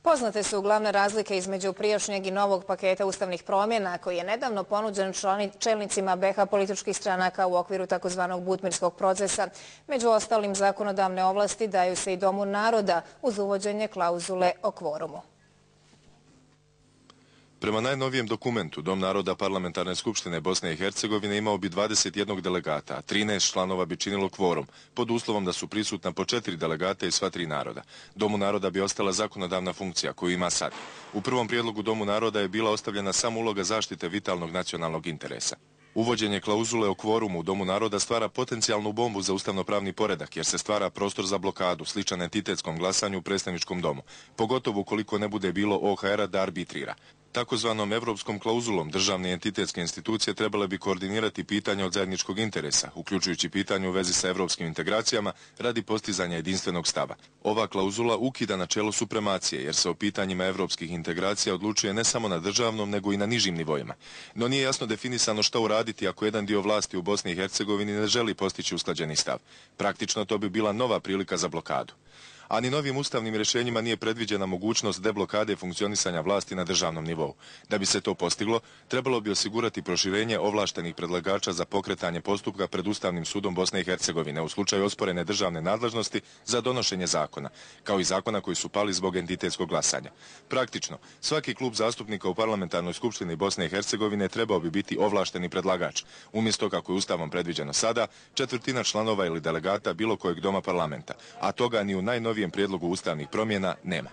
Poznate su glavne razlike između prijašnjeg i novog paketa ustavnih promjena koji je nedavno ponuđen čelnicima BiH političkih stranaka u okviru takozvanog butmirskog procesa. Među ostalim zakonodavne ovlasti daju se i Domu naroda uz uvođenje klauzule o kvorumu. Prema najnovijem dokumentu, Dom naroda Parlamentarne skupštine Bosne i Hercegovine imao bi 21 delegata, a 13 članova bi činilo kvorum, pod uslovom da su prisutna po 4 delegata iz sva 3 naroda. Domu naroda bi ostala zakonodavna funkcija koju ima sad. U prvom prijedlogu Domu naroda je bila ostavljena samo uloga zaštite vitalnog nacionalnog interesa. Uvođenje klauzule o kvorumu u Domu naroda stvara potencijalnu bombu za ustavnopravni poredak, jer se stvara prostor za blokadu, sličan entitetskom glasanju u predstavničkom domu, pogotovo ukoliko ne bude bilo OHR-a da arbitrira. Takozvanom evropskom klauzulom državne entitetske institucije trebale bi koordinirati pitanja od zajedničkog interesa, uključujući pitanje u vezi sa evropskim integracijama radi postizanja jedinstvenog stava. Ova klauzula ukida načelo supremacije, jer se o pitanjima evropskih integracija odlučuje ne samo na državnom, nego i na nižim nivoima. No nije jasno definisano što uraditi ako jedan dio vlasti u Bosni i Hercegovini ne želi postići usklađeni stav. Praktično to bi bila nova prilika za blokadu. A ni novim ustavnim rješenjima nije predviđena mogućnost deblokade funkcionisanja vlasti na državnom nivou. Da bi se to postiglo, trebalo bi osigurati proširenje ovlaštenih predlagača za pokretanje postupka pred Ustavnim sudom Bosne i Hercegovine u slučaju osporene državne nadležnosti za donošenje zakona, kao i zakona koji su pali zbog entitetskog glasanja. Praktično, svaki klub zastupnika u Parlamentarnoj skupštini Bosne i Hercegovine trebao bi biti ovlašteni predlagač, umjesto kako je Ustavom predviđeno sada, 1/4 članova ili delegata bilo kojeg doma parlamenta, a toga ni u najnovijem prijedlogu ustavnih promjena nema.